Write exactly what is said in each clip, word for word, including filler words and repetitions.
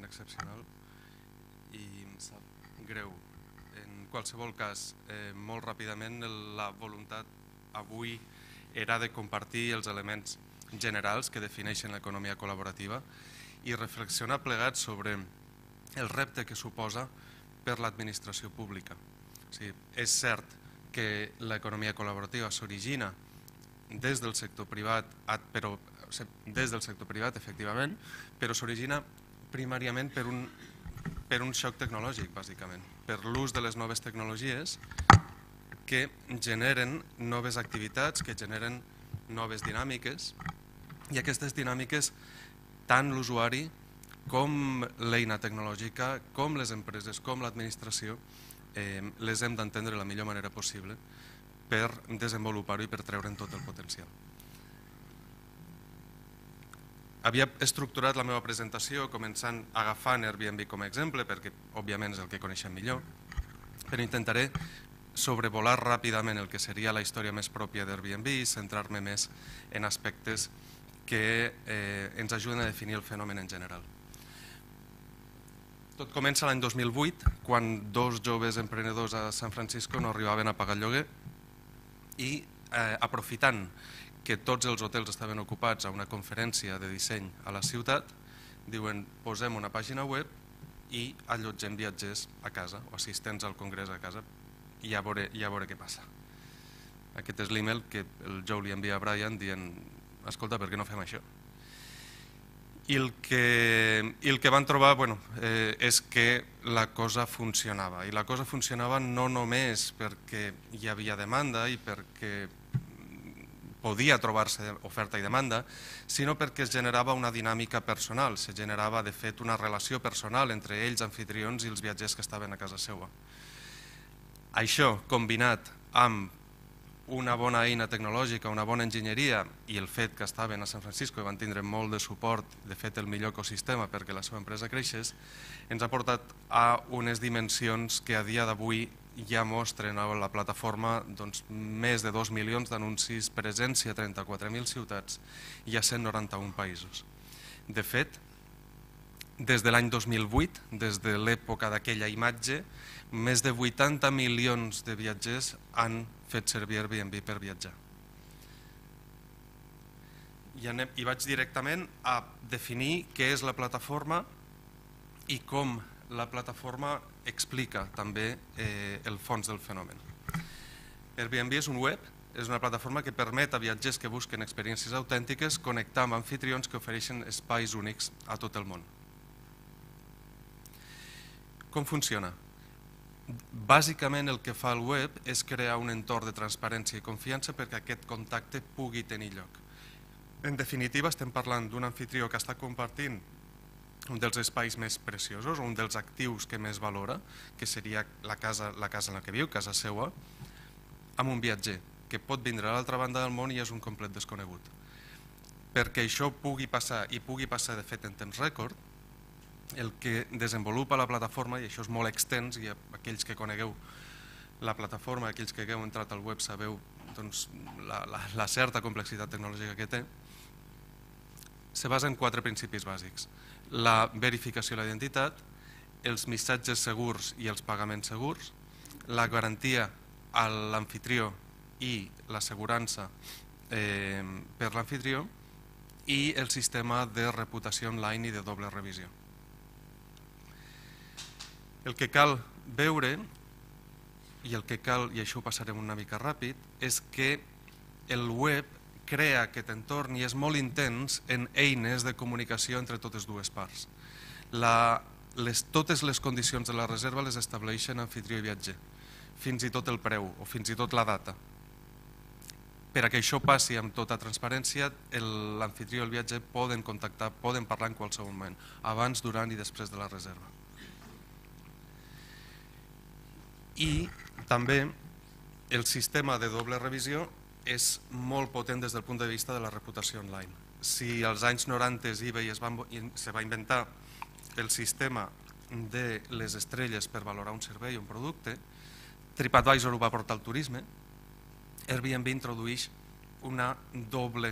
excepcional i em sap greu. En qualsevol cas, eh, molt ràpidament, la voluntat avui era de compartir els elements generals que defineixen l'economia col·laborativa i reflexionar plegats sobre el repte que suposa per l'administració pública. O sigui, és cert que l'economia col·laborativa s'origina des del sector privat, però, des del sector privat, efectivament, però s'origina primàriament per un, per un xoc tecnològic, bàsicament, per l'ús de les noves tecnologies que generen noves activitats, que generen noves dinàmiques, i aquestes dinàmiques, tant l'usuari com l'eina tecnològica, com les empreses, com l'administració, eh, les hem d'entendre de la millor manera possible per desenvolupar-ho i per treure'n tot el potencial. Havia estructurat la meva presentació començant agafant Airbnb com a exemple, perquè òbviament és el que coneixem millor, però intentaré sobrevolar ràpidament el que seria la història més pròpia d'Airbnb i centrar-me més en aspectes que eh, ens ajuden a definir el fenomen en general. Tot comença l'any dos mil vuit, quan dos joves emprenedors a San Francisco no arribaven a pagar el lloguer i eh, aprofitant que tots els hotels estaven ocupats a una conferència de disseny a la ciutat, diuen, posem una pàgina web i allotgem viatgers a casa o assistents al congrés a casa i ja veure, ja veure què passa. Aquest és l'email que el Joe li envia a Brian dient, escolta, per què no fem això? I el que, i el que van trobar bueno, eh, és que la cosa funcionava. I la cosa funcionava no només perquè hi havia demanda i perquè podia trobar-se oferta i demanda, sinó perquè es generava una dinàmica personal, se generava de fet una relació personal entre ells, anfitrions, i els viatgers que estaven a casa seva. Això, combinat amb una bona eina tecnològica, una bona enginyeria i el fet que estaven a San Francisco i van tindre molt de suport, de fet el millor ecosistema perquè la seva empresa creixés, ens ha portat a unes dimensions que a dia d'avui ja mostren a la plataforma doncs, més de dos milions d'anuncis, presència a trenta-quatre mil ciutats i a cent noranta-un països. De fet, des de l'any dos mil vuit, des de l'època d'aquella imatge, més de vuitanta milions de viatgers han fet servir Airbnb per viatjar. I, anem, I vaig directament a definir què és la plataforma i com la plataforma explica també eh, el fons del fenomen. Airbnb és un web, és una plataforma que permet a viatgers que busquen experiències autèntiques connectar amb anfitrions que ofereixen espais únics a tot el món. Com funciona? Bàsicament el que fa el web és crear un entorn de transparència i confiança perquè aquest contacte pugui tenir lloc. En definitiva, estem parlant d'un anfitrió que està compartint un dels espais més preciosos, un dels actius que més valora, que seria la casa, la casa en la que viu, casa seva, amb un viatger que pot vindre a l'altra banda del món i és un complet desconegut. Perquè això pugui passar, i pugui passar de fet en temps rècord, el que desenvolupa la plataforma, i això és molt extens, i aquells que conegueu la plataforma, aquells que hagueu entrat al web sabeu doncs, la, la, la certa complexitat tecnològica que té, se basa en quatre principis bàsics. La verificació de la identitat, els missatges segurs i els pagaments segurs, la garantia a l'anfitrió i l'assegurança eh, per l'anfitrió i el sistema de reputació online i de doble revisió. El que cal veure, i el que cal, i això ho passarem una mica ràpid, és que el web crea aquest entorn i és molt intens en eines de comunicació entre totes dues parts. La, les, totes les condicions de la reserva les estableixen anfitrió i viatger, fins i tot el preu o fins i tot la data. Per a que això passi amb tota transparència, l'anfitrió i el viatger poden contactar, poden parlar en qualsevol moment, abans, durant i després de la reserva. I també el sistema de doble revisió és molt potent des del punt de vista de la reputació online. Si als anys noranta eBay es va, se va inventar el sistema de les estrelles per valorar un servei o un producte, TripAdvisor ho va portar al turisme, Airbnb introdueix una doble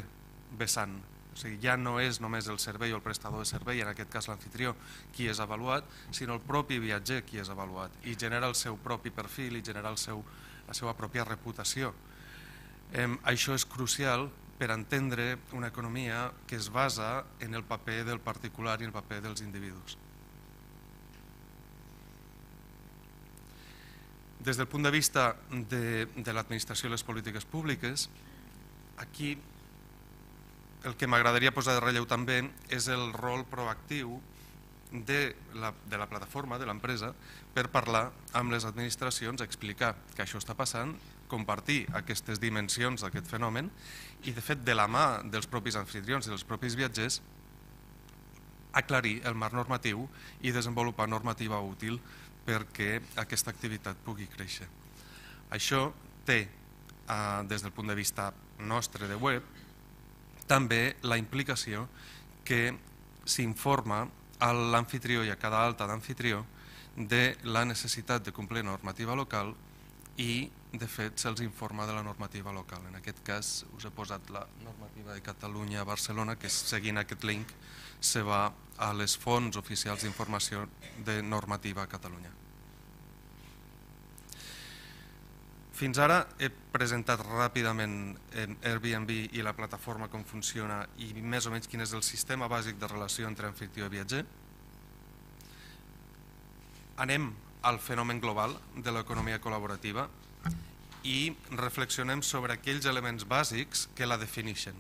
vessant, O sigui, ja no és només el servei o el prestador de servei, en aquest cas l'anfitrió, qui és avaluat, sinó el propi viatger qui és avaluat i genera el seu propi perfil i genera el seu, la seva pròpia reputació. Eh, això és crucial per entendre una economia que es basa en el paper del particular i el paper dels individus. Des del punt de vista de, de l'administració i les polítiques públiques, aquí el que m'agradaria posar de relleu també és el rol proactiu de la, de la plataforma, de l'empresa, per parlar amb les administracions, explicar que això està passant, compartir aquestes dimensions d'aquest fenomen i, de fet, de la mà dels propis anfitrions i dels propis viatgers, aclarir el marc normatiu i desenvolupar normativa útil perquè aquesta activitat pugui créixer. Això té, eh, des del punt de vista nostre de web, també la implicació que s'informa a l'anfitrió i a cada alta d'anfitrió de la necessitat de complir normativa local i, de fet, se'ls informa de la normativa local. En aquest cas, us he posat la normativa de Catalunya a Barcelona, que seguint aquest link se va a les fonts oficials d'informació de normativa a Catalunya. Fins ara he presentat ràpidament Airbnb i la plataforma com funciona i més o menys quin és el sistema bàsic de relació entre anfitrió i viatger. Anem al fenomen global de l'economia col·laborativa i reflexionem sobre aquells elements bàsics que la defineixen.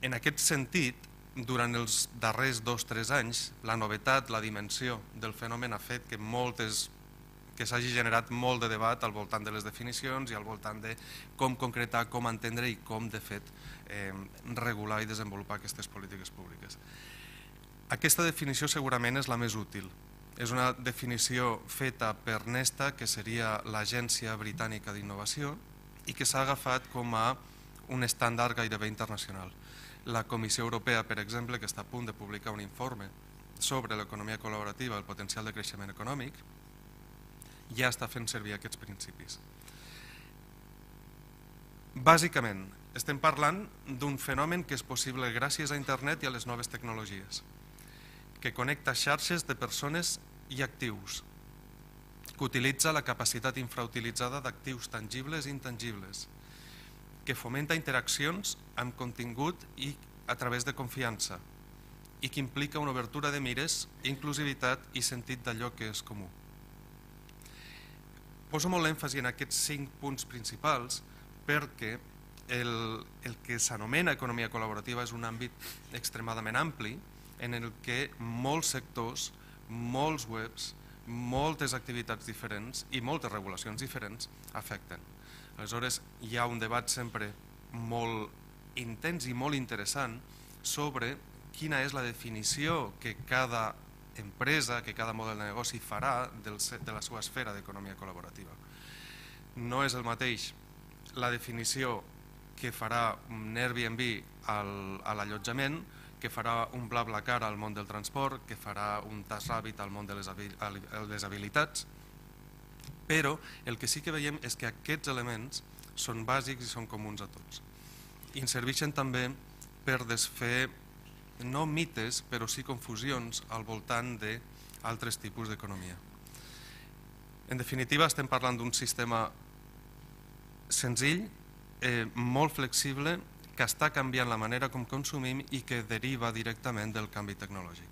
En aquest sentit, durant els darrers dos o tres anys, la novetat, la dimensió del fenomen ha fet que moltes que s'hagi generat molt de debat al voltant de les definicions i al voltant de com concretar, com entendre i com, de fet, eh, regular i desenvolupar aquestes polítiques públiques. Aquesta definició segurament és la més útil. És una definició feta per Nesta, que seria l'Agència Britànica d'Innovació, i que s'ha agafat com a un estàndard gairebé internacional. La Comissió Europea, per exemple, que està a punt de publicar un informe sobre l'economia col·laborativa i el potencial de creixement econòmic, ja està fent servir aquests principis. Bàsicament, estem parlant d'un fenomen que és possible gràcies a internet i a les noves tecnologies, que connecta xarxes de persones i actius, que utilitza la capacitat infrautilitzada d'actius tangibles i intangibles, que fomenta interaccions amb contingut i a través de confiança i que implica una obertura de mires, inclusivitat i sentit d'allò que és comú. Poso molt èmfasi en aquests cinc punts principals perquè el, el que s'anomena economia col·laborativa és un àmbit extremadament ampli en el que molts sectors, molts webs, moltes activitats diferents i moltes regulacions diferents afecten. Aleshores, hi ha un debat sempre molt intens i molt interessant sobre quina és la definició que cada empresa, que cada model de negoci farà del, de la seva esfera d'economia col·laborativa. No és el mateix la definició que farà un Airbnb al, a l'allotjament, que farà un BlaBlaCar al món del transport, que farà un TaskRabbit al món de les, les habilitats, però el que sí que veiem és que aquests elements són bàsics i són comuns a tots. I ens serveixen també per desfer no mites, però sí confusions al voltant d'altres tipus d'economia. En definitiva, estem parlant d'un sistema senzill, eh, molt flexible, que està canviant la manera com consumim i que deriva directament del canvi tecnològic.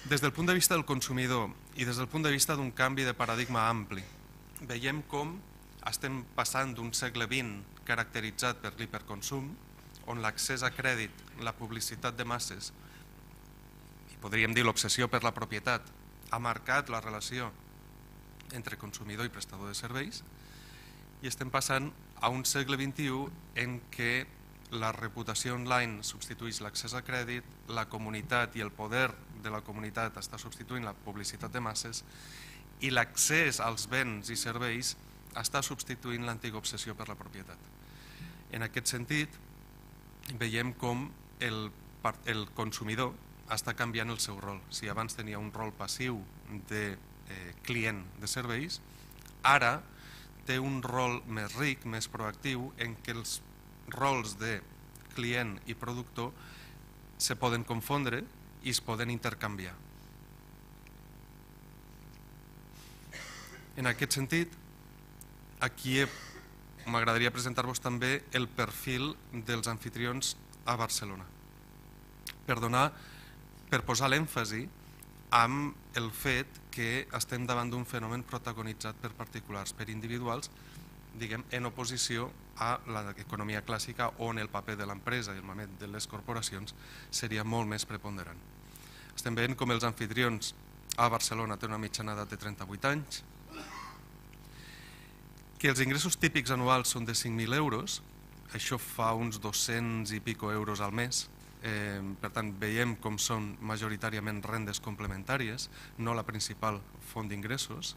Des del punt de vista del consumidor i des del punt de vista d'un canvi de paradigma ampli, veiem com estem passant d'un segle vint caracteritzat per l'hiperconsum, on l'accés a crèdit, la publicitat de masses, i podríem dir l'obsessió per la propietat, ha marcat la relació entre consumidor i prestador de serveis, i estem passant a un segle vint-i-u en què la reputació online substitueix l'accés a crèdit, la comunitat i el poder de la comunitat està substituint la publicitat de masses i l'accés als béns i serveis està substituint l'antiga obsessió per la propietat. En aquest sentit, veiem com el, el consumidor està canviant el seu rol. Si abans tenia un rol passiu de eh, client de serveis, ara té un rol més ric, més proactiu, en què els rols de client i productor se poden confondre i es poden intercanviar. En aquest sentit, aquí m'agradaria presentar-vos també el perfil dels anfitrions a Barcelona, per donar, per posar l'èmfasi amb el fet que estem davant d'un fenomen protagonitzat per particulars, per individuals, diguem, en oposició a l'economia clàssica on el paper de l'empresa i el moment de les corporacions seria molt més preponderant. Estem veient com els anfitrions a Barcelona tenen una mitjana edat de trenta-vuit anys, que els ingressos típics anuals són de cinc mil euros, això fa uns dos-cents i pico euros al mes, eh, per tant veiem com són majoritàriament rendes complementàries, no la principal font d'ingressos.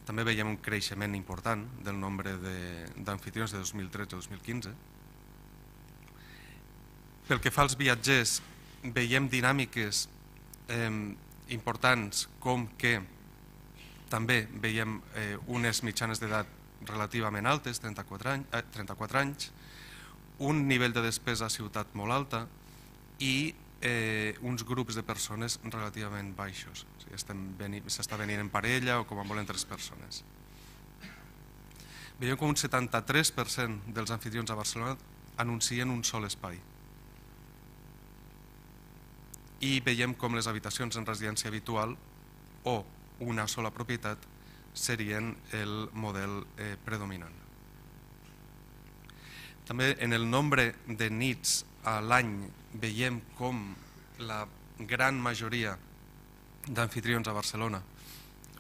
També veiem un creixement important del nombre d'anfitrions de, de dos mil tretze a dos mil quinze. Pel que fa als viatgers, veiem dinàmiques eh, importants com que també veiem eh, unes mitjanes d'edat relativament altes, trenta-quatre anys, eh, trenta-quatre anys, un nivell de despesa a ciutat molt alta i eh, uns grups de persones relativament baixos. O sigui, s'està venint en parella o com a molt en tres persones. Veiem com un setanta-tres per cent dels anfitrions a Barcelona anuncien un sol espai. I veiem com les habitacions en residència habitual o una sola propietat serien el model eh, predominant. També en el nombre de nits a l'any veiem com la gran majoria d'anfitrions a Barcelona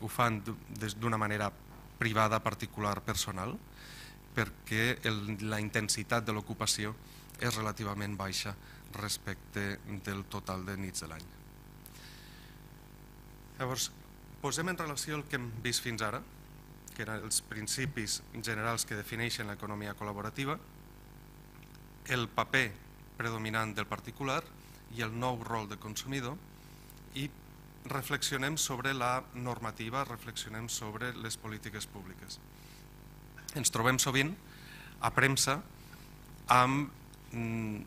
ho fan d'una manera privada, particular, personal, perquè el, la intensitat de l'ocupació és relativament baixa respecte del total de nits de l'any. Llavors, posem en relació el que hem vist fins ara, que eren els principis generals que defineixen l'economia col·laborativa, el paper predominant del particular i el nou rol de consumidor, i reflexionem sobre la normativa, reflexionem sobre les polítiques públiques. Ens trobem sovint a premsa amb mm,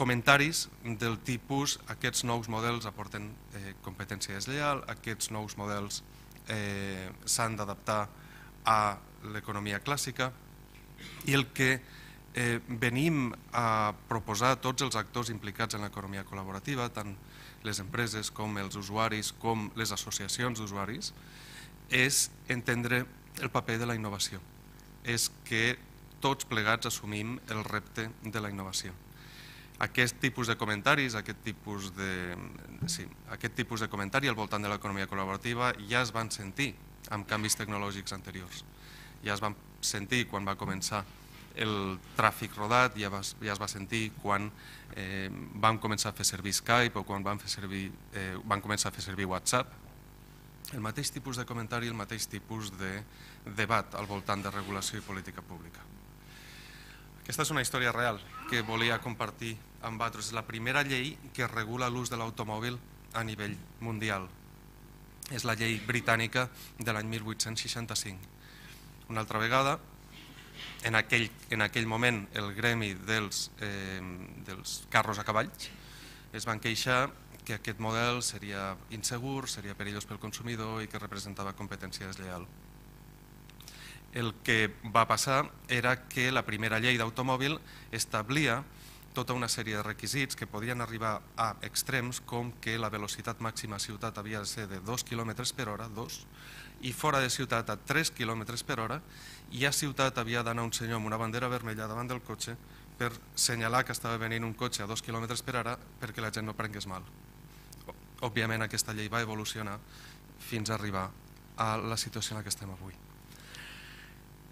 comentaris del tipus aquests nous models aporten eh, competència deslleial, aquests nous models eh, s'han d'adaptar a l'economia clàssica, i el que eh, venim a proposar a tots els actors implicats en l'economia col·laborativa, tant les empreses com els usuaris com les associacions d'usuaris, és entendre el paper de la innovació. És que tots plegats assumim el repte de la innovació. Aquest tipus de comentaris, aquest tipus de, sí, aquest tipus de comentari al voltant de l'economia col·laborativa ja es van sentir amb canvis tecnològics anteriors. Ja es van sentir quan va començar el tràfic rodat, ja, va, ja es va sentir quan eh, vam començar a fer servir Skype o quan vam, fer servir, eh, vam començar a fer servir WhatsApp. El mateix tipus de comentari, el mateix tipus de debat al voltant de regulació i política pública. Aquesta és una història real que volia compartir amb vosaltres. És la primera llei que regula l'ús de l'automòbil a nivell mundial. És la llei britànica de l'any mil vuit-cents seixanta-cinc. Una altra vegada, en aquell, en aquell moment, el gremi dels, eh, dels carros a cavalls es van queixar que aquest model seria insegur, seria perillós pel consumidor i que representava competència deslleial. El que va passar era que la primera llei d'automòbil establia tota una sèrie de requisits que podien arribar a extrems com que la velocitat màxima a ciutat havia de ser de dos quilòmetres per hora, dos, i fora de ciutat a tres quilòmetres per hora, i a ciutat havia d'anar un senyor amb una bandera vermella davant del cotxe per senyalar que estava venint un cotxe a dos quilòmetres per hora perquè la gent no prengués mal. Òbviament aquesta llei va evolucionar fins a arribar a la situació en la que estem avui.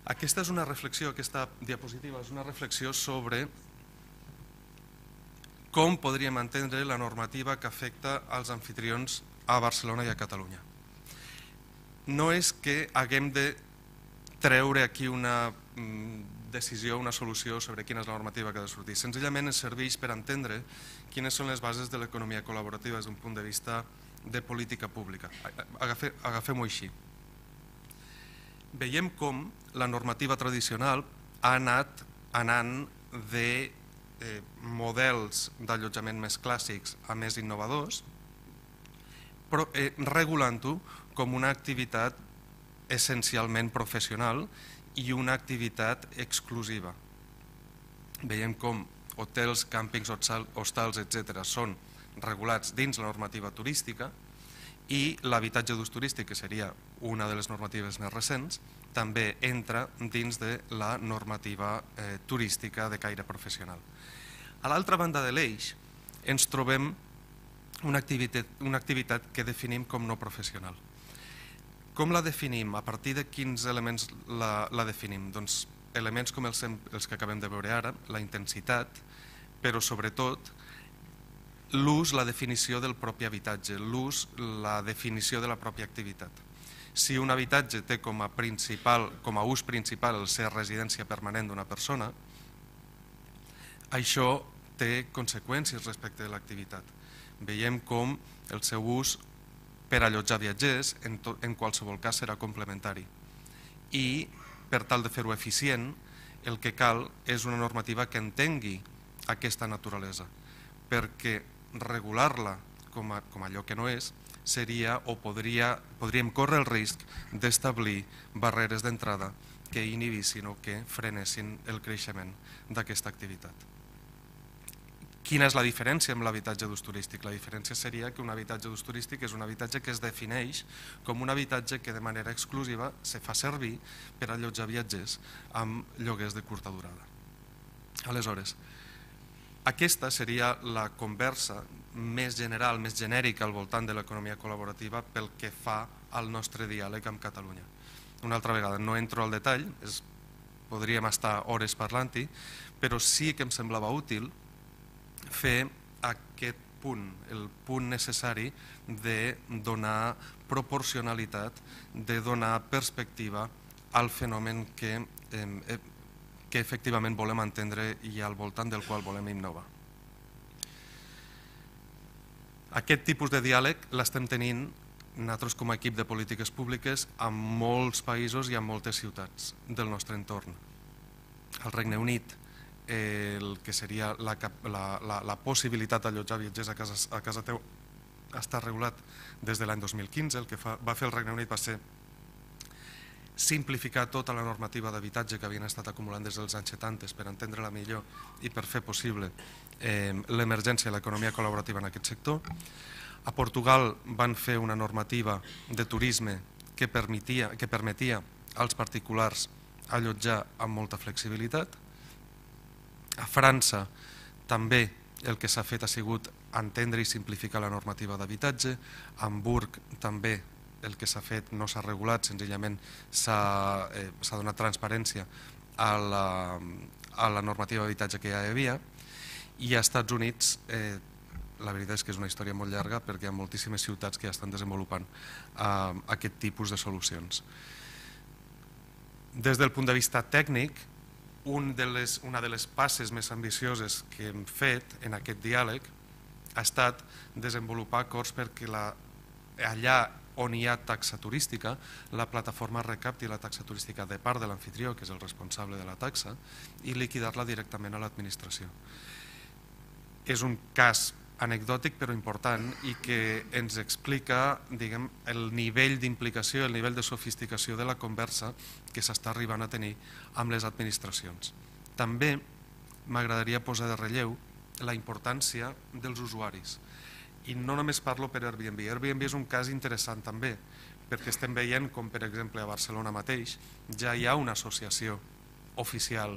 Aquesta és una reflexió, aquesta diapositiva és una reflexió sobre com podríem entendre la normativa que afecta als anfitrions a Barcelona i a Catalunya. No és que haguem de treure aquí una decisió, una solució sobre quina és la normativa que ha de sortir. Senzillament ens serveix per entendre quines són les bases de l'economia col·laborativa des d'un punt de vista de política pública. Agafem-ho així. Veiem com la normativa tradicional ha anat anant de eh, models d'allotjament més clàssics a més innovadors, però eh, regulant-ho com una activitat essencialment professional i una activitat exclusiva. Veiem com hotels, càmpings, hostals, etcètera són regulats dins la normativa turística i l'habitatge d'ús turístic, que seria una de les normatives més recents, també entra dins de la normativa eh, turística de caire professional. A l'altra banda de l'eix ens trobem una activitat, una activitat que definim com no professional. Com la definim? A partir de quins elements la, la definim? Doncs elements com els, els que acabem de veure ara, la intensitat, però sobretot l'ús, la definició del propi habitatge, l'ús, la definició de la pròpia activitat. Si un habitatge té com a, principal, com a ús principal el ser residència permanent d'una persona, això té conseqüències respecte de l'activitat. Veiem com el seu ús per allotjar viatgers en, to, en qualsevol cas serà complementari. I per tal de fer-ho eficient, el que cal és una normativa que entengui aquesta naturalesa, perquè regular-la com, a, com allò que no és seria o podria, podríem córrer el risc d'establir barreres d'entrada que inhibissin o que frenessin el creixement d'aquesta activitat. Quina és la diferència amb l'habitatge d'ús turístic? La diferència seria que un habitatge d'ús turístic és un habitatge que es defineix com un habitatge que de manera exclusiva se fa servir per allotjar viatgers amb lloguers de curta durada. Aleshores, aquesta seria la conversa més general, més genèrica al voltant de l'economia col·laborativa pel que fa al nostre diàleg amb Catalunya. Una altra vegada, no entro al detall, és, podríem estar hores parlant-hi, però sí que em semblava útil fer aquest punt, el punt necessari de donar proporcionalitat, de donar perspectiva al fenomen que, eh, que efectivament volem entendre i al voltant del qual volem innovar. Aquest tipus de diàleg l'estem tenint nosaltres com a equip de polítiques públiques en molts països i en moltes ciutats del nostre entorn. Al Regne Unit, el que seria la, la, la, la possibilitat d'allotjar viatgers a casa, a casa teu està regulat des de l'any dos mil quinze. El que fa, va fer el Regne Unit va ser simplificar tota la normativa d'habitatge que havien estat acumulant des dels anys setanta per entendre-la millor i per fer possible eh, l'emergència de l'economia col·laborativa en aquest sector. A Portugal van fer una normativa de turisme que permetia, que permetia als particulars allotjar amb molta flexibilitat. A França també el que s'ha fet ha sigut entendre i simplificar la normativa d'habitatge. A Hamburg també el que s'ha fet no s'ha regulat, senzillament s'ha eh, donat transparència a la, a la normativa d'habitatge que ja hi havia. I als Estats Units eh, la veritat és que és una història molt llarga perquè hi ha moltíssimes ciutats que ja estan desenvolupant eh, aquest tipus de solucions. Des del punt de vista tècnic, Un de les, una de les passes més ambicioses que hem fet en aquest diàleg ha estat desenvolupar acords perquè la, allà on hi ha taxa turística, la plataforma recapti la taxa turística de part de l'anfitrió, que és el responsable de la taxa, i liquidar-la directament a l'administració. És un cas anecdòtic però important i que ens explica, diguem, el nivell d'implicació, el nivell de sofisticació de la conversa que s'està arribant a tenir amb les administracions. També m'agradaria posar de relleu la importància dels usuaris. I no només parlo per Airbnb. Airbnb és un cas interessant també, perquè estem veient com, per exemple, a Barcelona mateix ja hi ha una associació oficial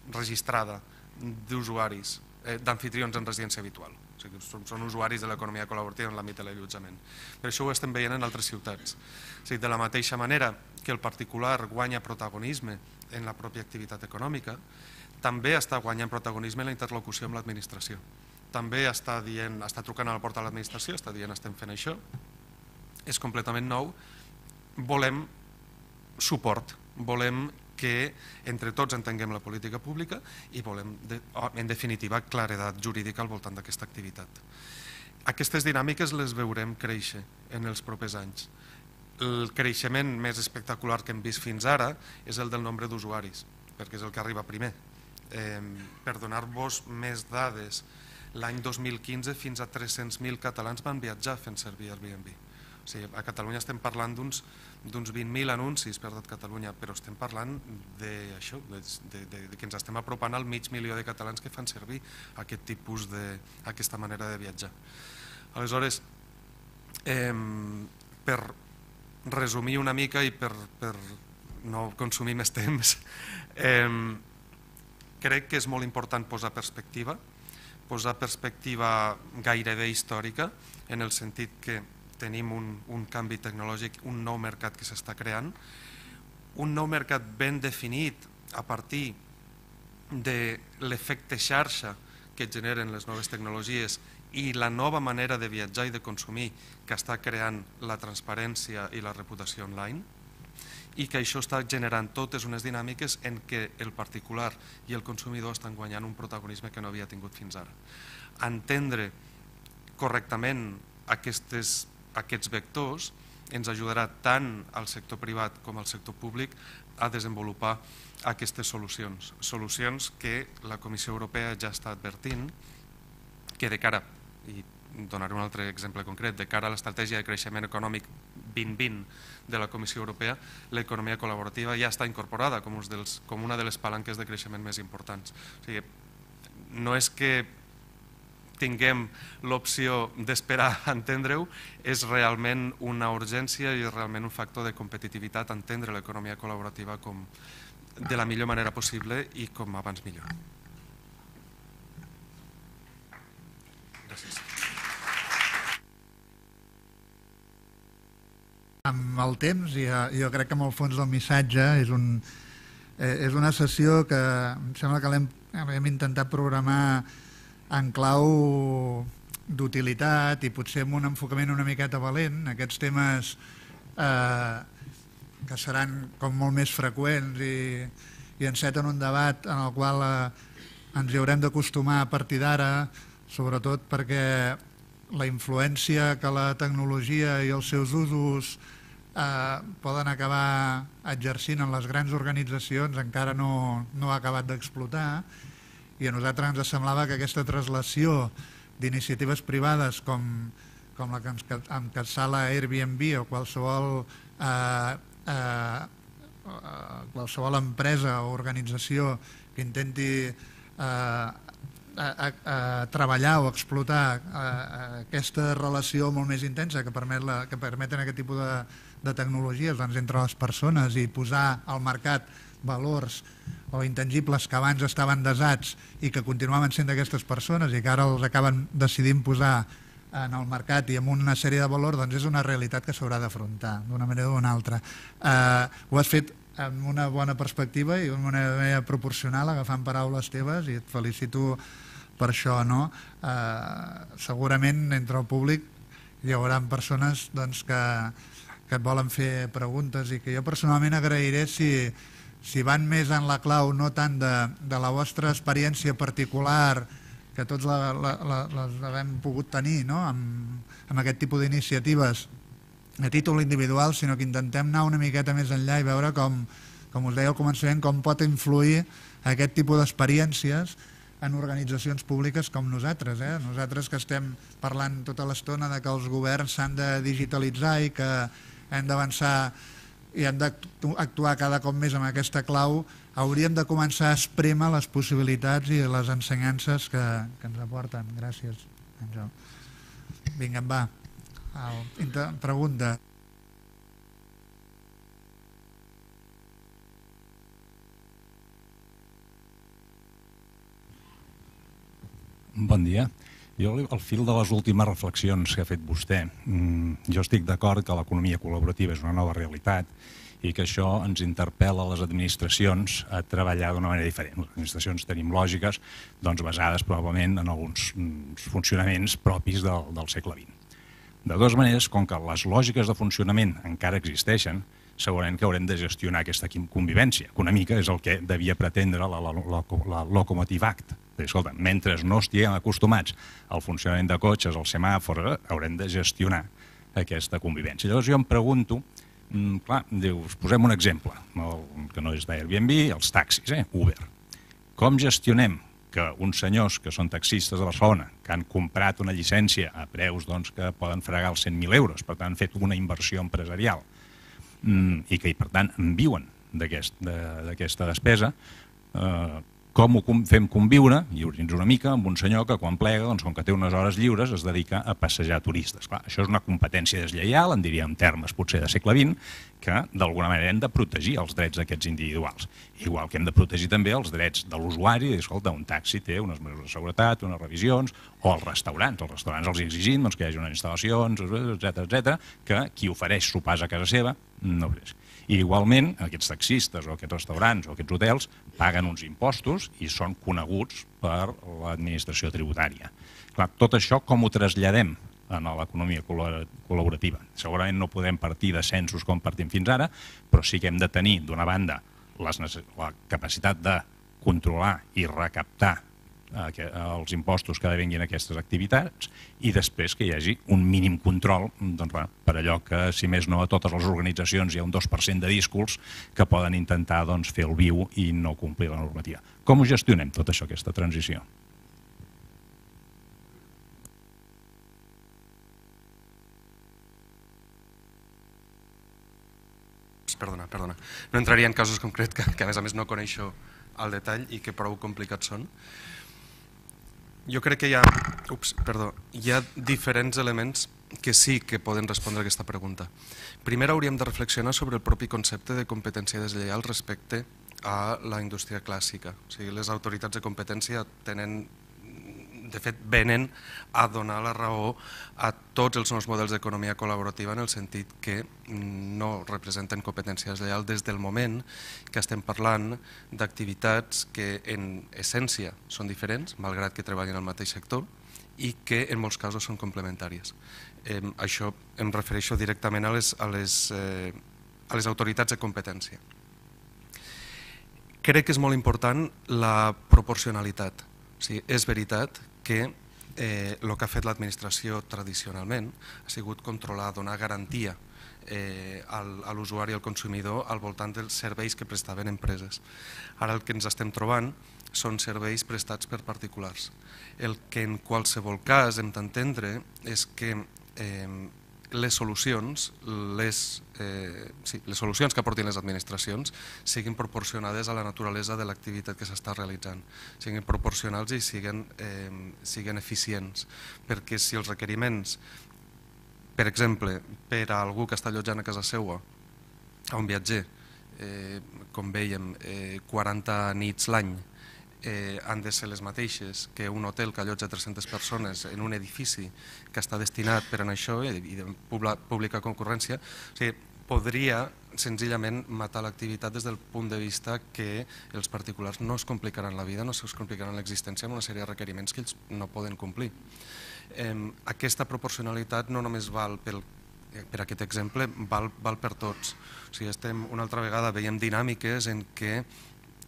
registrada d'usuaris, eh, d'anfitrions en residència habitual. O sigui, són, són usuaris de l'economia col·laborativa en l'àmbit de l'allotjament. Per això ho estem veient en altres ciutats. O sigui, de la mateixa manera que el particular guanya protagonisme en la pròpia activitat econòmica, també està guanyant protagonisme en la interlocució amb l'administració. També està dient, està trucant a la porta de l'administració, està dient estem fent això, és completament nou, volem suport, volem que entre tots entenguem la política pública i volem, en definitiva, claredat jurídica al voltant d'aquesta activitat. Aquestes dinàmiques les veurem créixer en els propers anys. El creixement més espectacular que hem vist fins ara és el del nombre d'usuaris, perquè és el que arriba primer. Per donar-vos més dades, l'any dos mil quinze fins a tres-cents mil catalans van viatjar fent servir Airbnb. O sigui, a Catalunya estem parlant d'uns vint mil anuncis per tot Catalunya, però estem parlant d'això, que ens estem apropant al mig milió de catalans que fan servir aquest tipus de, aquesta manera de viatjar. Aleshores, per resumir una mica i per no consumir més temps, crec que és molt important posar perspectiva, posar perspectiva gairebé històrica, en el sentit que tenim un canvi tecnològic, un nou mercat que s'està creant, un nou mercat ben definit a partir de l'efecte xarxa que generen les noves tecnologies i la nova manera de viatjar i de consumir que està creant la transparència i la reputació online, i que això està generant totes unes dinàmiques en què el particular i el consumidor estan guanyant un protagonisme que no havia tingut fins ara. Entendre correctament aquests aquests vectors ens ajudarà tant al sector privat com al sector públic a desenvolupar aquestes solucions. Solucions que la Comissió Europea ja està advertint que de cara, i donaré un altre exemple concret, de cara a l'estratègia de creixement econòmic vint vint de la Comissió Europea, l'economia col·laborativa ja està incorporada com una de les palanques de creixement més importants. O sigui, no és que tinguem l'opció d'esperar a entendre-ho, és realment una urgència i és realment un factor de competitivitat entendre l'economia col·laborativa de la millor manera possible i com abans millor. Gràcies. Amb el temps, jo crec que amb el fons del missatge és una sessió que em sembla que l'hem intentat programar en clau d'utilitat i potser amb un enfocament una miqueta valent, aquests temes que seran com molt més freqüents i enceten un debat en el qual ens hi haurem d'acostumar a partir d'ara, sobretot perquè la influència que la tecnologia i els seus usos poden acabar exercint en les grans organitzacions encara no ha acabat d'explotar, i a nosaltres ens semblava que aquesta translació d'iniciatives privades com la que encapçala Airbnb o qualsevol qualsevol empresa o organització que intenti treballar o explotar aquesta relació molt més intensa que permeten aquest tipus de tecnologies entre les persones i posar al mercat valors o intangibles que abans estaven desats i que continuaven sent d'aquestes persones i que ara els acaben decidint posar en el mercat i amb una sèrie de valors, doncs és una realitat que s'haurà d'afrontar d'una manera o d'una altra. Ho has fet amb una bona perspectiva i d'una manera proporcional, agafant paraules teves, i et felicito per això. Segurament entre el públic hi haurà persones que et volen fer preguntes i que jo personalment agrairé si van més en la clau no tant de la vostra experiència particular, que tots les hem pogut tenir amb aquest tipus d'iniciatives a títol individual, sinó que intentem anar una miqueta més enllà i veure com, com us deia al començament, com pot influir aquest tipus d'experiències en organitzacions públiques com nosaltres. Nosaltres que estem parlant tota l'estona que els governs s'han de digitalitzar i que hem d'avançar i hem d'actuar cada cop més amb aquesta clau, hauríem de començar a esprémer les possibilitats i les ensenyances que ens aporten. Gràcies, Àngel. Vinga, va. Pregunta. Bon dia. Jo, al fil de les últimes reflexions que ha fet vostè, jo estic d'acord que l'economia col·laborativa és una nova realitat i que això ens interpel·la a les administracions a treballar d'una manera diferent. Les administracions tenim lògiques basades probablement en alguns funcionaments propis del segle vint. De totes maneres, com que les lògiques de funcionament encara existeixen, segurament que haurem de gestionar aquesta convivència, que una mica és el que devia pretendre la Locomotive Act. Escolta, mentre no estiguem acostumats al funcionament de cotxes, al semàfor, haurem de gestionar aquesta convivència. Llavors jo em pregunto, clar, us posem un exemple, que no és d'Airbnb, els taxis, Uber. Com gestionem que uns senyors que són taxistes de Barcelona, que han comprat una llicència a preus doncs, que poden fregar els cent mil euros, per tant han fet una inversió empresarial i que per tant en viuen d'aquesta despesa, eh, com ho fem conviure, lliure'ns una mica, amb un senyor que quan plega, doncs, com que té unes hores lliures, es dedica a passejar turistes. Clar, això és una competència deslleial, en diríem termes potser de segle vint, que d'alguna manera hem de protegir els drets d'aquests individuals. Igual que hem de protegir també els drets de l'usuari, escolta, un taxi té unes mesures de seguretat, unes revisions, o els restaurants. Els restaurants els exigim doncs, que hi hagi unes instal·lacions, etcètera, etcètera, que qui ofereix sopars a casa seva no ofereix. I igualment, aquests taxistes o aquests restaurants o aquests hotels paguen uns impostos i són coneguts per l'administració tributària. Clar, tot això com ho traslladem a l'economia col·laborativa? Segurament no podem partir de censos com partim fins ara, però sí que hem de tenir, d'una banda, la capacitat de controlar i recaptar els impostos que devenguin aquestes activitats i després que hi hagi un mínim control per allò que, si més no, a totes les organitzacions hi ha un dos per cent de díscols que poden intentar fer el viu i no complir la normativa. Com ho gestionem tot això, aquesta transició? Perdona, perdona. No entraria en casos concrets que a més a més no coneixo al detall i que prou complicats són. Jo crec que hi ha, ups, perdó, hi ha diferents elements que sí que poden respondre a aquesta pregunta. Primer hauríem de reflexionar sobre el propi concepte de competència deslleial respecte a la indústria clàssica. O sigui, les autoritats de competència tenen, de fet, venen a donar la raó a tots els nous models d'economia col·laborativa en el sentit que no representen competència deslleial des del moment que estem parlant d'activitats que en essència són diferents, malgrat que treballin al mateix sector, i que en molts casos són complementàries. Eh, això em refereixo directament a les, a les, eh, a les autoritats de competència. Crec que és molt important la proporcionalitat. O sigui, és veritat que eh, el que ha fet l'administració tradicionalment ha sigut controlar, donar garantia eh, al, a l'usuari i al consumidor al voltant dels serveis que prestaven empreses. Ara el que ens estem trobant són serveis prestats per particulars. El que en qualsevol cas hem d'entendre és que eh, les solucions, les, eh, sí, les solucions que aportin les administracions siguin proporcionades a la naturalesa de l'activitat que s'està realitzant, siguin proporcionals i siguin, eh, siguin eficients, perquè si els requeriments, per exemple, per a algú que està allotjant a casa seva, a un viatger, eh, com vèiem, eh, quaranta nits l'any, Eh, han de ser les mateixes que un hotel que allotja tres-centes persones en un edifici que està destinat per a això i de pública concurrència, o sigui, podria senzillament matar l'activitat des del punt de vista que els particulars no es complicaran la vida, no es complicaran l'existència amb una sèrie de requeriments que ells no poden complir. Eh, aquesta proporcionalitat no només val pel per aquest exemple, val, val per tots. O sigui, estem, una altra vegada veiem dinàmiques en què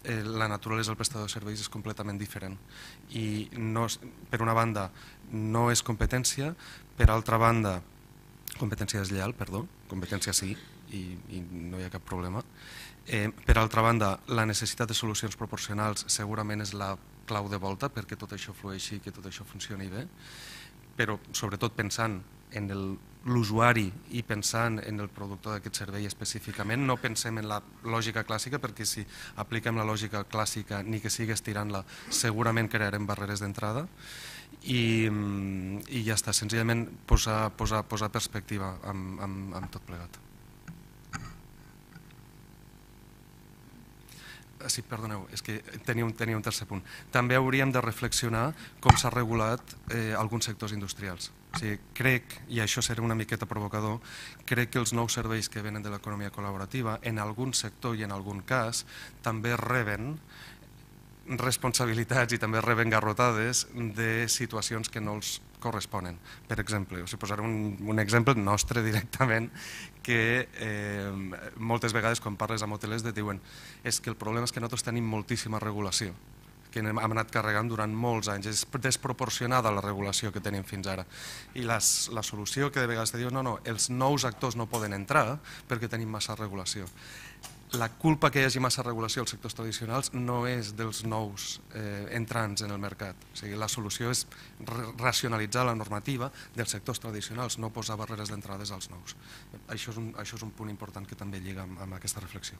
la naturalesa del prestador de serveis és completament diferent i no, per una banda no és competència, per altra banda competència deslleial, perdó, competència sí i, i no hi ha cap problema. Eh, per altra banda, la necessitat de solucions proporcionals segurament és la clau de volta perquè tot això flueixi i que tot això funcioni bé, però sobretot pensant en l'usuari i pensant en el productor d'aquest servei específicament, no pensem en la lògica clàssica perquè si apliquem la lògica clàssica ni que sigui estirant-la segurament crearem barreres d'entrada i, i ja està, senzillament posar, posar, posar perspectiva amb, amb, amb tot plegat. Sí, perdoneu, és que tenia un, tenia un tercer punt. També hauríem de reflexionar com s'ha regulat eh, alguns sectors industrials. O sigui, crec, i això serà una miqueta provocador, crec que els nous serveis que venen de l'economia col·laborativa, en algun sector i en algun cas, també reben responsabilitats i també reben garrotades de situacions que no els corresponen. Per exemple, us posaré un, un exemple nostre directament que eh, moltes vegades quan parles amb hotelers et diuen és que el problema és que nosaltres tenim moltíssima regulació que hem anat carregant durant molts anys. És desproporcionada la regulació que tenim fins ara. I les, la solució que de vegades te diuen no, no, els nous actors no poden entrar perquè tenim massa regulació. la culpa que hi hagi massa regulació als sectors tradicionals no és dels nous entrants en el mercat. O sigui, la solució és racionalitzar la normativa dels sectors tradicionals, no posar barreres d'entrades als nous. Això és un, això és un punt important que també lliga amb, amb aquesta reflexió.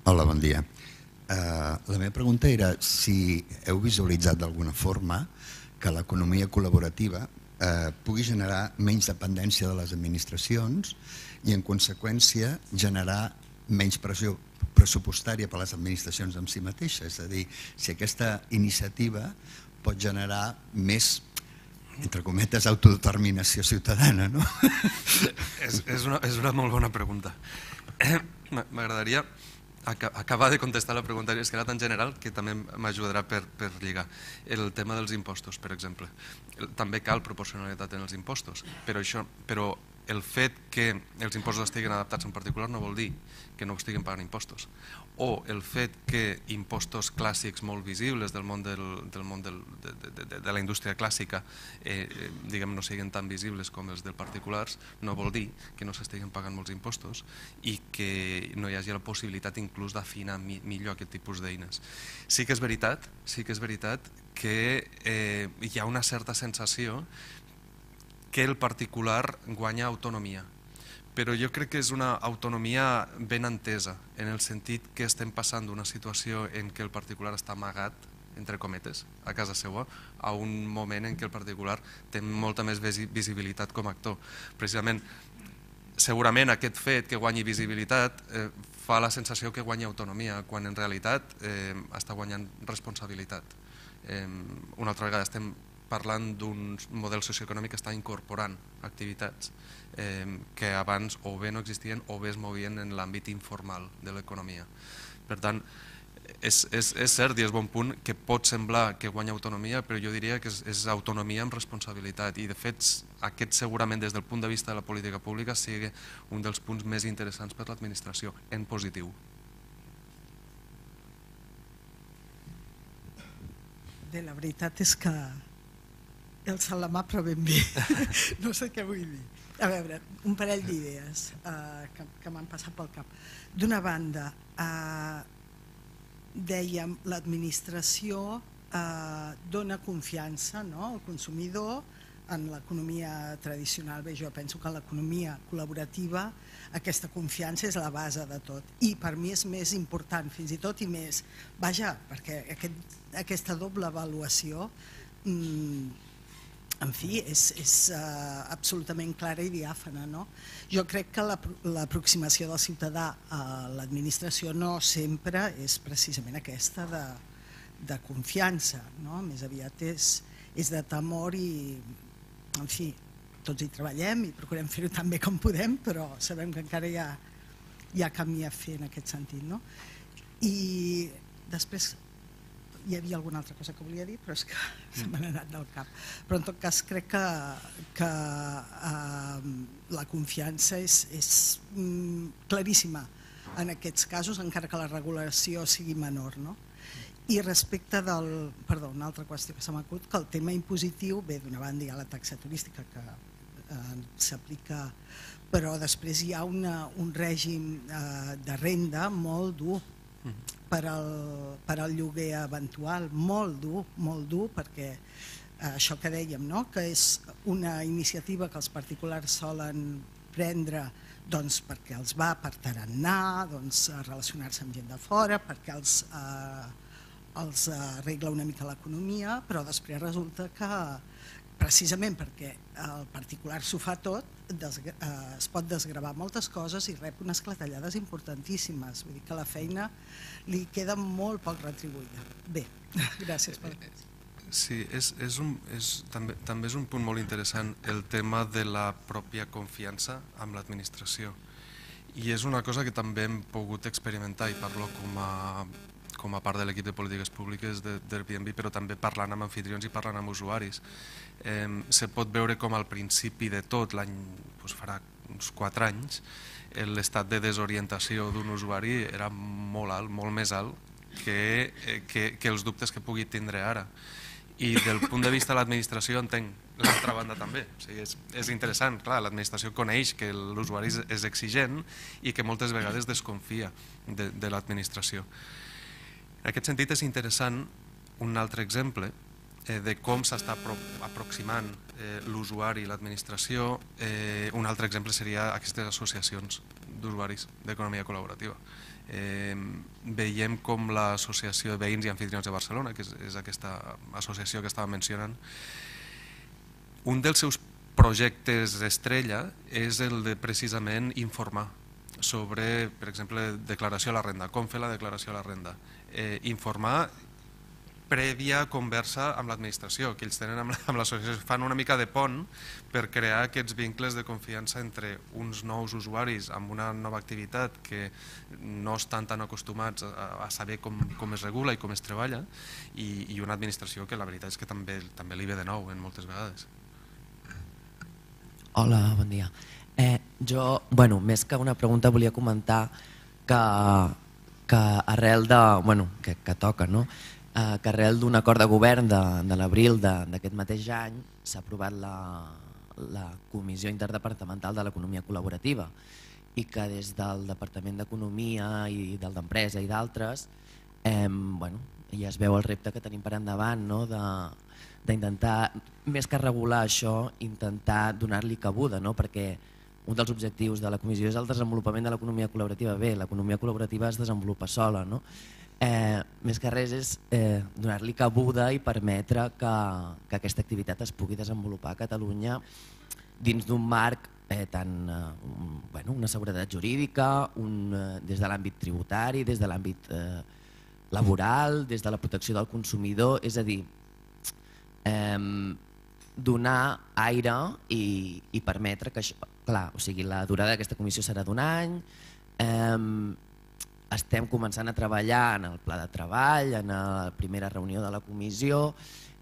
Hola, bon dia. Uh, la meva pregunta era si heu visualitzat d'alguna forma que l'economia col·laborativa uh, pugui generar menys dependència de les administracions i, en conseqüència, generar menys pressió pressupostària per a les administracions en si mateixes. És a dir, si aquesta iniciativa pot generar més, entre cometes, autodeterminació ciutadana, no? És, és, una, és una molt bona pregunta. M'agradaria acabar de contestar la pregunta, és que era tan general que també m'ajudarà per, per lligar. El tema dels impostos, per exemple. També cal proporcionalitat en els impostos, però, això, però el fet que els impostos estiguin adaptats en particular no vol dir que no estiguin pagant impostos. O el fet que impostos clàssics molt visibles del món, del, del món del, de, de, de, de la indústria clàssica eh, diguem, no siguin tan visibles com els dels particulars, no vol dir que no s'estiguen pagant molts impostos i que no hi hagi la possibilitat inclús d'afinar mi, millor aquest tipus d'eines. Sí que és veritat, sí que és veritat que eh, hi ha una certa sensació que el particular guanya autonomia, però jo crec que és una autonomia ben entesa, en el sentit que estem passant d'una situació en què el particular està amagat, entre cometes, a casa seva, a un moment en què el particular té molta més visibilitat com a actor. Precisament, segurament aquest fet que guanyi visibilitat eh, fa la sensació que guanya autonomia, quan en realitat eh, està guanyant responsabilitat. Eh, una altra vegada estem parlant d'un model socioeconòmic que està incorporant activitats eh, que abans o bé no existien o bé es movien en l'àmbit informal de l'economia. Per tant, és, és, és cert i és bon punt que pot semblar que guanya autonomia, però jo diria que és, és autonomia amb responsabilitat i de fet aquest segurament des del punt de vista de la política pública sigui un dels punts més interessants per l'administració, en positiu. Bé, la veritat és que el salamà però ben bé, no sé què vull dir. A veure, un parell d'idees uh, que, que m'han passat pel cap. D'una banda, uh, dèiem, l'administració uh, dona confiança, no?, al consumidor en l'economia tradicional. Bé, jo penso que en l'economia col·laborativa aquesta confiança és la base de tot i per mi és més important fins i tot i més, vaja, perquè aquest, aquesta doble avaluació mmm, en fi, és, és uh, absolutament clara i diàfana, no? Jo crec que l'aproximació del ciutadà a l'administració no sempre és precisament aquesta de, de confiança, no? Més aviat és, és de temor i, en fi, tots hi treballem i procurem fer-ho tan bé com podem, però sabem que encara hi ha, hi ha camí a fer en aquest sentit, no? I després hi havia alguna altra cosa que volia dir, però és que se m'ha anat del cap. Però en tot cas crec que, que eh, la confiança és, és mm, claríssima en aquests casos, encara que la regulació sigui menor, no? I respecte del... Perdó, una altra qüestió que se m'ha acut, que el tema impositiu, bé, d'una banda hi ha la taxa turística que eh, s'aplica, però després hi ha una, un règim eh, de renda molt dur per al, per al lloguer eventual, molt dur, molt dur, perquè eh, això que dèiem, no?, que és una iniciativa que els particulars solen prendre doncs, perquè els va per tarannà, doncs, a relacionar-se amb gent de fora, perquè els, eh, els arregla una mica l'economia, però després resulta que precisament perquè el particular s'ho fa tot, es pot desgravar moltes coses i rep unes clatellades importantíssimes. Vull dir que la feina li queda molt poc retribuïda. Bé, gràcies per el Sí, és, és un, és, també, també és un punt molt interessant el tema de la pròpia confiança amb l'administració. I és una cosa que també hem pogut experimentar i parlo com a com a part de l'equip de polítiques públiques d'Airbnb, però també parlant amb anfitrions i parlant amb usuaris. Eh, se pot veure com al principi de tot, l'any doncs farà uns quatre anys, l'estat de desorientació d'un usuari era molt alt, molt més alt que, eh, que, que els dubtes que pugui tindre ara. I del punt de vista de l'administració entenc l'altra banda també. O sigui, és, és interessant, clar, l'administració coneix que l'usuari és, és exigent i que moltes vegades desconfia de, de l'administració. En aquest sentit és interessant un altre exemple eh, de com s'està apro aproximant eh, l'usuari i l'administració. Eh, un altre exemple seria aquestes associacions d'usuaris d'economia col·laborativa. Eh, veiem com l'Associació de Veïns i Amfitrions de Barcelona, que és, és aquesta associació que estava mencionant, un dels seus projectes estrella és el de precisament informar sobre, per exemple, declaració a la renda, com fer la declaració a la renda, eh, informar prèvia conversa amb l'administració, que ells tenen amb l'associació, fan una mica de pont per crear aquests vincles de confiança entre uns nous usuaris amb una nova activitat que no estan tan acostumats a, a saber com, com es regula i com es treballa, i, i una administració que la veritat és que també, també li ve de nou en moltes vegades. Hola, bon dia. Eh, jo, bueno, més que una pregunta volia comentar que, que arrel de, bueno, que, que toca, no? Eh, que arrel d'un acord de govern de, de l'abril d'aquest mateix any s'ha aprovat la, la Comissió Interdepartamental de l'Economia Col·laborativa i que des del Departament d'Economia i del d'Empresa i d'altres eh, bueno, ja es veu el repte que tenim per endavant, no? de, d'intentar, més que regular això, intentar donar-li cabuda, no? Perquè un dels objectius de la comissió és el desenvolupament de l'economia col·laborativa. Bé, l'economia col·laborativa es desenvolupa sola, no? Eh, més que res és eh, donar-li cabuda i permetre que, que aquesta activitat es pugui desenvolupar a Catalunya dins d'un marc eh, tant, eh, un, bueno, una seguretat jurídica, un, eh, des de l'àmbit tributari, des de l'àmbit eh, laboral, des de la protecció del consumidor, és a dir, eh, donar aire i, i permetre que això, clar, o sigui, la durada d'aquesta comissió serà d'un any, eh, estem començant a treballar en el pla de treball, en la primera reunió de la comissió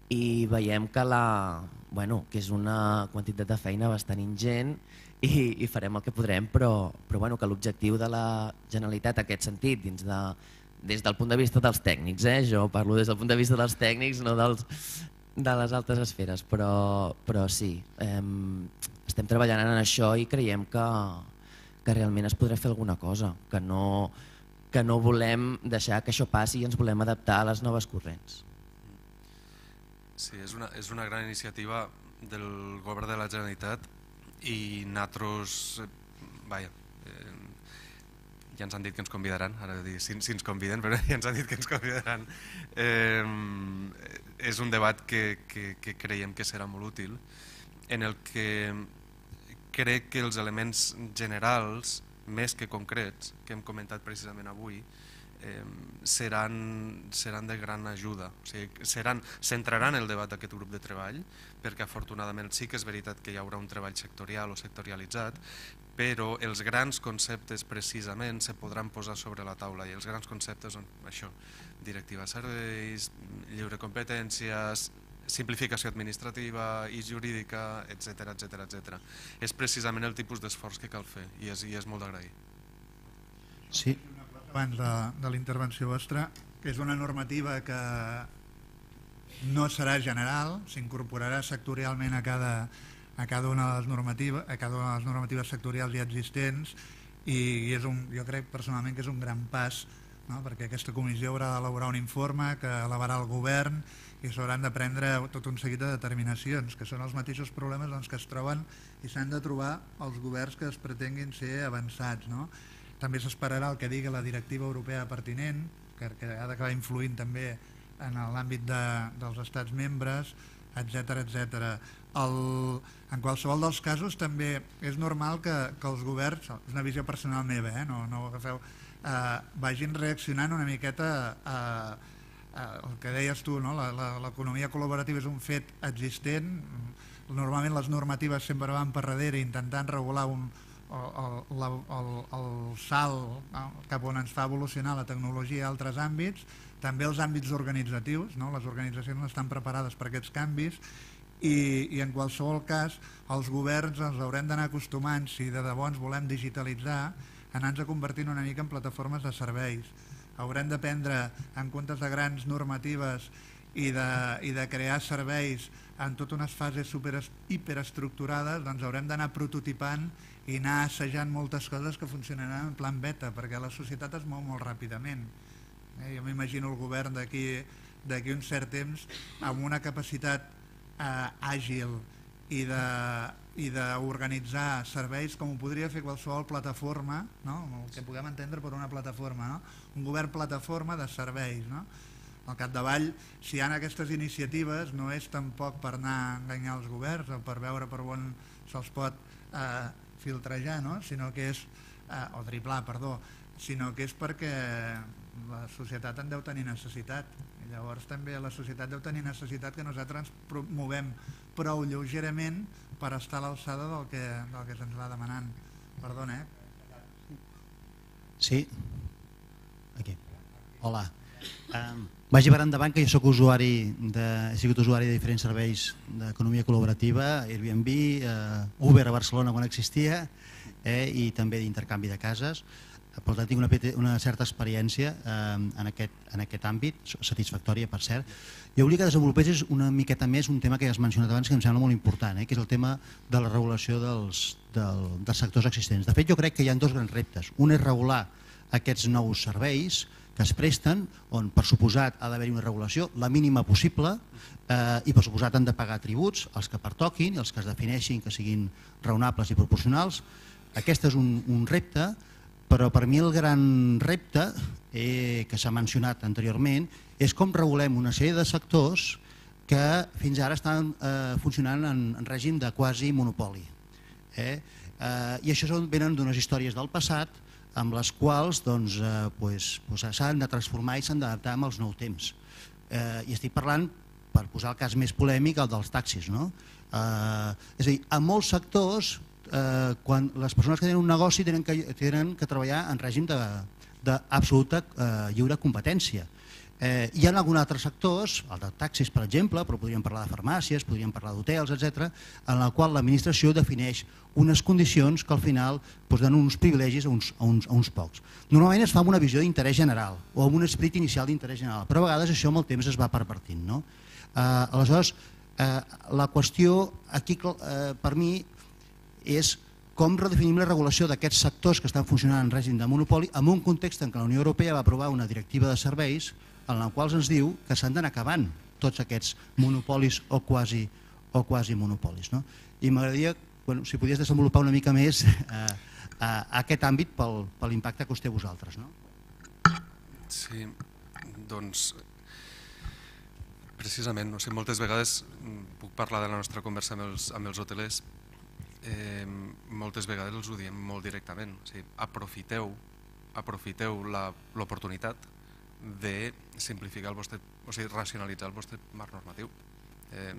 i veiem que, la, bueno, que és una quantitat de feina bastant ingent i, i farem el que podrem, però, però bueno, que l'objectiu de la Generalitat en aquest sentit, dins de, des del punt de vista dels tècnics, eh? Jo parlo des del punt de vista dels tècnics, no dels, de les altres esferes, però, però sí, eh, estem treballant en això i creiem que, que realment es podrà fer alguna cosa, que no... que no volem deixar que això passi i ens volem adaptar a les noves corrents. Sí, és una, és una gran iniciativa del govern de la Generalitat i nosaltres, vaja, eh, ja ens han dit que ens convidaran, ara dir si, si ens conviden, però ja ens han dit que ens convidaran. Eh, és un debat que, que, que creiem que serà molt útil, en el que crec que els elements generals més que concrets, que hem comentat precisament avui, eh, seran, seran de gran ajuda. O sigui, seran, centraran el debat d'aquest grup de treball, perquè afortunadament sí que és veritat que hi haurà un treball sectorial o sectorialitzat, però els grans conceptes precisament se podran posar sobre la taula, i els grans conceptes són això, directiva de serveis, lliure competències, simplificació administrativa i jurídica, etcètera, etcètera, etcètera. És precisament el tipus d'esforç que cal fer i és, i és molt d'agrair. Sí. Abans de, de la intervenció vostra, que és una normativa que no serà general, s'incorporarà sectorialment a cada, a cada una de les normatives, a cada una de les normatives sectorials ja existents, i, i és un, jo crec personalment que és un gran pas, no? Perquè aquesta comissió haurà d'elaborar un informe que elevarà el govern i s'hauran de prendre tot un seguit de determinacions, que són els mateixos problemes doncs, que es troben i s'han de trobar els governs que es pretenguin ser avançats. No? També s'esperarà el que digui la directiva europea pertinent, que, que ha d'acabar influint també en l'àmbit de, dels estats membres, etcètera, etcètera. El, en qualsevol dels casos també és normal que, que els governs, és una visió personal meva, eh? no, no ho agafeu, eh, vagin reaccionant una miqueta a el que deies tu, no? L'economia col·laborativa és un fet existent, normalment les normatives sempre van per darrere intentant regular un, el, el, el, el salt, no? Cap on ens fa evolucionar la tecnologia a altres àmbits, també els àmbits organitzatius, no? Les organitzacions no estan preparades per aquests canvis i, i en qualsevol cas els governs ens haurem d'anar acostumant, si de debò ens volem digitalitzar, anar-nos convertint una mica en plataformes de serveis. haurem de prendre, en comptes de grans normatives i de, i de crear serveis en totes unes fases super, hiperestructurades, doncs haurem d'anar prototipant i anar assajant moltes coses que funcionaran en plan beta, perquè la societat es mou molt ràpidament. Eh, jo m'imagino el govern d'aquí d'aquí un cert temps amb una capacitat eh, àgil i de i d'organitzar serveis com ho podria fer qualsevol plataforma, no? El que puguem entendre per una plataforma, no? Un govern plataforma de serveis. No? Al capdavall, si hi ha aquestes iniciatives, no és tampoc per anar a enganyar els governs o per veure per on se'ls pot eh, filtrejar, no? Sinó que és, eh, o driblar, perdó, sinó que és perquè la societat en deu tenir necessitat. I llavors també la societat deu tenir necessitat que nosaltres ens movem prou lleugerament per estar a l'alçada del que, del que se'ns va demanant. Perdona, eh? Sí. Aquí. Hola. Um, vagi per endavant que jo soc usuari de, he sigut usuari de diferents serveis d'economia col·laborativa, Airbnb, uh, Uber a Barcelona quan existia, eh, i també d'intercanvi de cases. Per tant, tinc una, una certa experiència eh, en, aquest, en aquest àmbit, satisfactòria, per cert. Jo volia que desenvolupés una miqueta més un tema que ja has mencionat abans, que em sembla molt important, eh, que és el tema de la regulació dels, del, dels sectors existents. De fet, jo crec que hi ha dos grans reptes. Un és regular aquests nous serveis que es presten, on per suposat ha d'haver-hi una regulació, la mínima possible, eh, i per suposat han de pagar tributs, els que pertoquin, els que es defineixin, que siguin raonables i proporcionals. Aquest és un, un repte, però per mi el gran repte eh, que s'ha mencionat anteriorment és com regulem una sèrie de sectors que fins ara estan eh, funcionant en, en règim de quasi monopoli. Eh? Eh, I això són, venen d'unes històries del passat amb les quals doncs, eh, pues, pues s'han de transformar i s'han d'adaptar amb els nous temps. Eh, I estic parlant, per posar el cas més polèmic, el dels taxis. No? Eh, és a dir, en molts sectors, Eh, quan les persones que tenen un negoci tenen que, tenen que treballar en règim d'absoluta eh, lliure competència. Eh, hi ha alguns altres sectors, el de taxis per exemple, però podríem parlar de farmàcies, podríem parlar d'hotels, etcètera, en el qual l'administració defineix unes condicions que al final doncs, donen uns privilegis a uns, a, uns, a uns pocs. Normalment es fa amb una visió d'interès general o amb un esperit inicial d'interès general, però a vegades això amb el temps es va pervertint. No? Eh, aleshores, eh, la qüestió aquí eh, per mi és com redefinim la regulació d'aquests sectors que estan funcionant en règim de monopoli en un context en què la Unió Europea va aprovar una directiva de serveis en la qual ens diu que s'han d'anar acabant tots aquests monopolis o quasi, o quasi monopolis. No? I m'agradaria, bueno, si podies desenvolupar una mica més eh, a aquest àmbit pel, per l'impacte que us té vosaltres. No? Sí, doncs precisament, o sigui, moltes vegades puc parlar de la nostra conversa amb els, amb els hotelers. Eh, moltes vegades els ho diem molt directament, o sigui, aprofiteu, aprofiteu l'oportunitat de simplificar el vostre, o sigui, racionalitzar el vostre marc normatiu. Eh,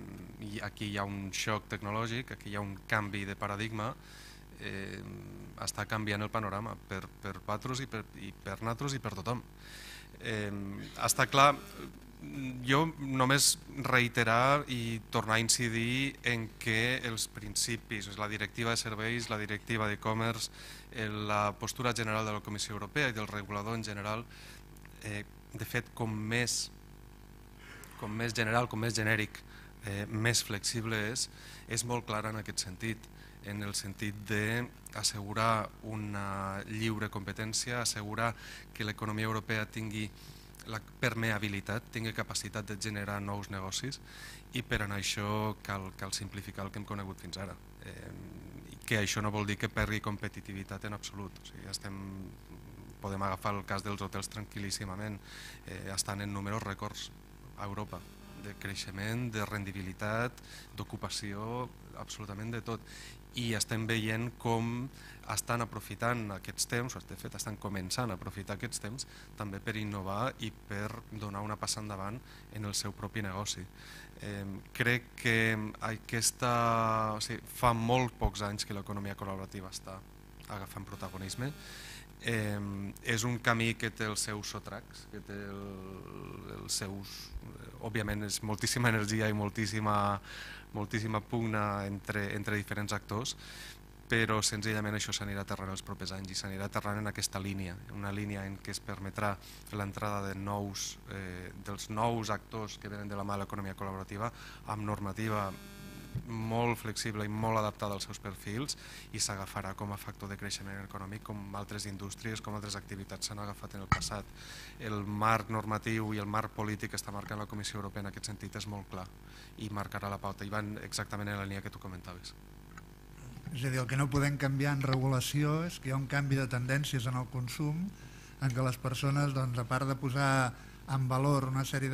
i aquí hi ha un xoc tecnològic, aquí hi ha un canvi de paradigma, eh, està canviant el panorama per, per vosaltres i per, i per nosaltres i per tothom. Eh, està clar, jo només reiterar i tornar a incidir en que els principis, la directiva de serveis, la directiva d'e-commerce, la postura general de la Comissió Europea i del regulador en general, eh, de fet, com més, com més general, com més genèric, eh, més flexible és, és molt clara en aquest sentit, en el sentit d'assegurar una lliure competència, assegurar que l'economia europea tingui la permeabilitat, tingui capacitat de generar nous negocis i per anar això cal, cal simplificar el que hem conegut fins ara. Eh, que això no vol dir que perdi competitivitat en absolut. O sigui, estem, podem agafar el cas dels hotels tranquil·líssimament, eh, estan en números rècords a Europa, de creixement, de rendibilitat, d'ocupació, absolutament de tot. I estem veient com estan aprofitant aquests temps, o de fet estan començant a aprofitar aquests temps també per innovar i per donar una passa endavant en el seu propi negoci. Eh, crec que aquesta, o sigui, fa molt pocs anys que l'economia col·laborativa està agafant protagonisme. Eh, és un camí que té els seus sotracs, que té el, els seus, òbviament és moltíssima energia i moltíssima, moltíssima pugna entre, entre diferents actors, però senzillament això s'anirà aterrant els propers anys i s'anirà aterrant en aquesta línia, una línia en què es permetrà l'entrada de nous, eh, dels nous actors que venen de la mà de l'economia col·laborativa amb normativa molt flexible i molt adaptada als seus perfils i s'agafarà com a factor de creixement econòmic com altres indústries, com altres activitats s'han agafat en el passat. El marc normatiu i el marc polític que està marcant la Comissió Europea en aquest sentit és molt clar i marcarà la pauta i van exactament en la línia que tu comentaves. És a dir, el que no podem canviar en regulació és que hi ha un canvi de tendències en el consum en què les persones, doncs, a part de posar en valor una sèrie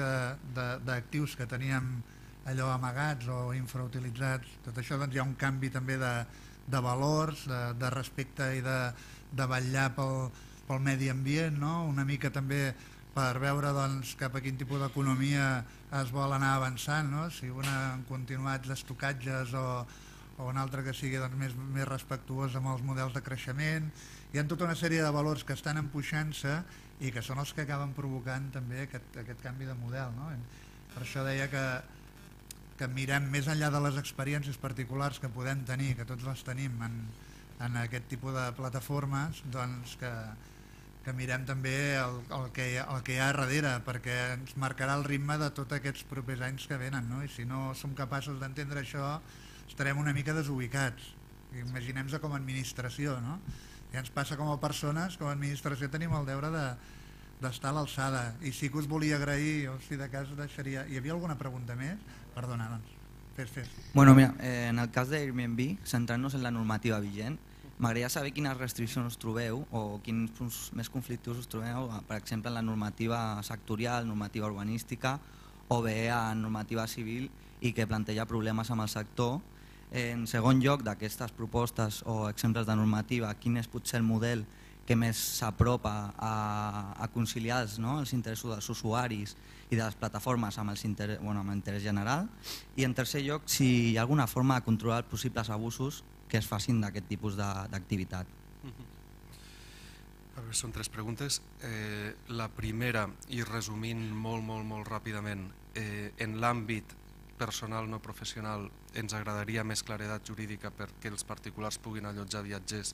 d'actius que teníem allò amagats o infrautilitzats, tot això doncs, hi ha un canvi també de, de valors, de, de respecte i de, de vetllar pel, pel medi ambient, no? Una mica també per veure doncs, cap a quin tipus d'economia es vol anar avançant, no? Si una en continuats estocatges o, o una altra que sigui doncs, més, més respectuosa amb els models de creixement. Hi ha tota una sèrie de valors que estan empuixant-se i que són els que acaben provocant també aquest, aquest canvi de model, no? Per això deia que que mirem més enllà de les experiències particulars que podem tenir, que tots les tenim en, en aquest tipus de plataformes, doncs que, que mirem també el, el, que, el que hi ha darrere, perquè ens marcarà el ritme de tots aquests propers anys que venen, no? I si no som capaços d'entendre això, estarem una mica desubicats. Imaginem-nos com a administració, no? Ja ens passa com a persones, com a administració tenim el deure de d'estar a l'alçada. I sí que us volia agrair, o si de cas deixaria... Hi havia alguna pregunta més? Perdona, doncs. Fes, fes. Bueno, mira, eh, en el cas d'Airbnb, centrant-nos en la normativa vigent, m'agradaria saber quines restriccions us trobeu o quins punts més conflictius us trobeu, per exemple, en la normativa sectorial, normativa urbanística o bé en normativa civil i que planteja problemes amb el sector. En segon lloc, d'aquestes propostes o exemples de normativa, quin és potser el model que més s'apropa a, a conciliar els, no, els interessos dels usuaris i de les plataformes amb, els inter, bueno, amb l'interès general. I en tercer lloc, si hi ha alguna forma de controlar els possibles abusos que es facin d'aquest tipus d'activitat. A veure, són tres preguntes. Eh, la primera, i resumint molt, molt, molt ràpidament, eh, en l'àmbit personal no professional ens agradaria més claredat jurídica perquè els particulars puguin allotjar viatgers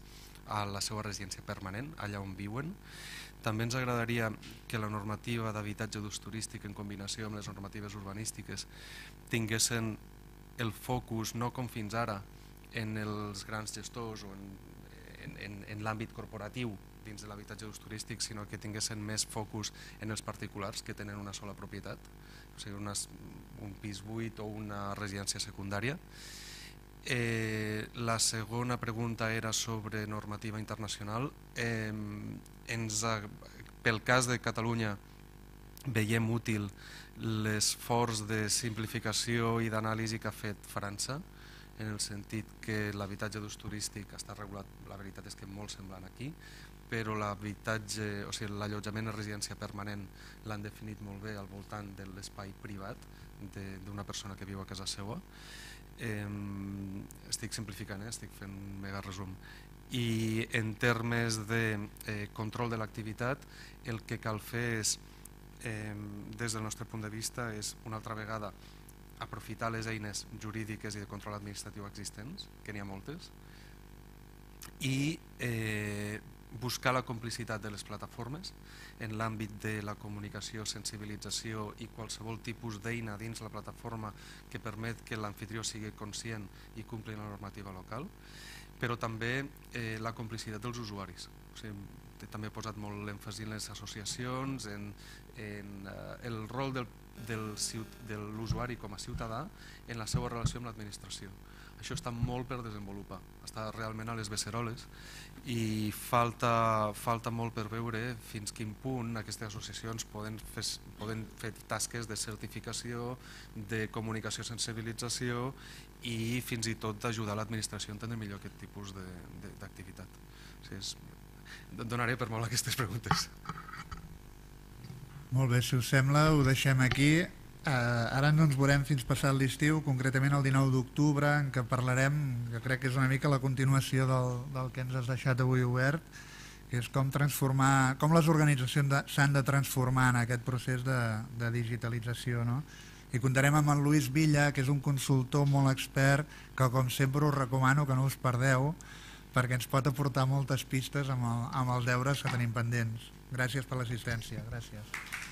a la seva residència permanent, allà on viuen. També ens agradaria que la normativa d'habitatge d'ús turístic en combinació amb les normatives urbanístiques tinguessin el focus, no com fins ara, en els grans gestors o en, en, en, en l'àmbit corporatiu dins de l'habitatge d'ús turístic, sinó que tinguessin més focus en els particulars que tenen una sola propietat, o sigui, unes, un pis buit o una residència secundària. Eh, la segona pregunta era sobre normativa internacional. Eh, ens, pel cas de Catalunya veiem útil l'esforç de simplificació i d'anàlisi que ha fet França, en el sentit que l'habitatge d'ús turístic està regulat, la veritat és que molt semblant aquí, però l'habitatge, o sigui, l'allotjament en residència permanent l'han definit molt bé al voltant de l'espai privat d'una persona que viu a casa seva. Eh, estic simplificant, eh? Estic fent un mega resum. I en termes de eh, control de l'activitat, el que cal fer és, eh, des del nostre punt de vista, és una altra vegada aprofitar les eines jurídiques i de control administratiu existents, que n'hi ha moltes, i eh, buscar la complicitat de les plataformes en l'àmbit de la comunicació, sensibilització i qualsevol tipus d'eina dins la plataforma que permet que l'anfitrió sigui conscient i compli la normativa local, però també eh, la complicitat dels usuaris. O sigui, també he posat molt l'èmfasi en les associacions, en, en eh, el rol del, del, de l'usuari com a ciutadà en la seva relació amb l'administració. Això està molt per desenvolupar, està realment a les beceroles i falta, falta molt per veure fins quin punt aquestes associacions poden fer, poden fer tasques de certificació, de comunicació, sensibilització i fins i tot d'ajudar l'administració a entendre millor aquest tipus d'activitat. O sigui, és, donaré per molt aquestes preguntes. Molt bé, si us sembla ho deixem aquí. Uh, ara no ens veurem fins passat l'estiu, concretament el dinou d'octubre, en què parlarem, que crec que és una mica la continuació del, del que ens has deixat avui obert, que és com transformar, com les organitzacions s'han de transformar en aquest procés de, de digitalització, no? I comptarem amb en Luis Villa, que és un consultor molt expert, que com sempre us recomano que no us perdeu, perquè ens pot aportar moltes pistes amb, el, amb els deures que tenim pendents. Gràcies per l'assistència. Gràcies.